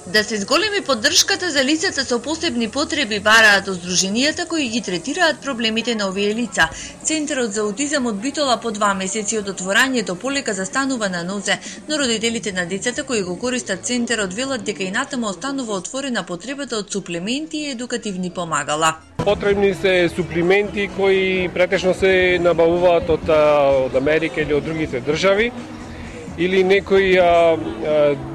Да се зголеми поддршката за лицата со посебни потреби, бараат здруженијата кои ги третираат проблемите на овие лица. Центарот за аутизам од Битола по 2 месеци од отворањето полека застанува на нозе, но родителите на децата кои го користат центарот велат дека и натаму останува отворена потребата од суплементи и едукативни помагала. Потребни се суплементи кои претежно се набавуваат од Америка или од другите држави, или некои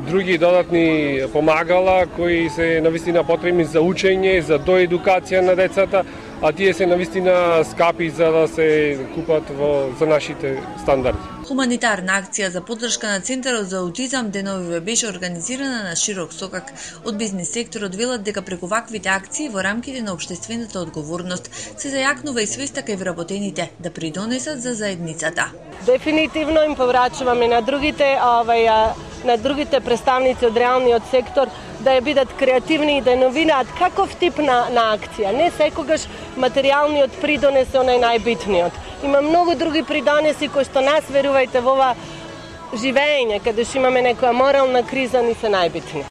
други додатни помагала кои се навистина потребни за учење, за доедукација на децата, а тие се навистина скапи за да се купат за нашите стандарди. Хуманитарна акција за поддршка на Центарот за аутизам деновиве беше организирана на широк сокак. Од бизнис секторот велат дека преку ваквите акции во рамките на општествената одговорност се зајакнува и свеста кај вработените да придонесат за заедницата. Дефинитивно им поврачуваме на другите представници од реалниот сектор да ја бидат креативни и да новинаат каков тип на акција. Не секогаш материјалниот придонес е онај најбитниот. Има многу други придонеси кои што нас, верувајте, во ова живење, каде што имаме некоја морална криза, ни се најбитни.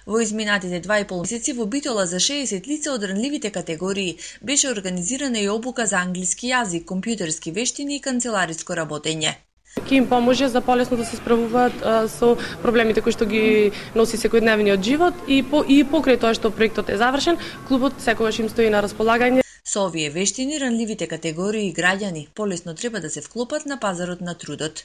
Во изминатите 2,5 месеци во Битола за 60 лица од ранливите категории беше организирана и обука за англиски јазик, компјутерски вештини и канцелариско работење. Ќе им поможе за полесно да се справуваат со проблемите кои што ги носи секојдневниот живот и покрај тоа што проектот е завршен, клубот секогаш им стои на располагање. Со овие вештини ранливите категории и граѓани полесно треба да се вклопат на пазарот на трудот.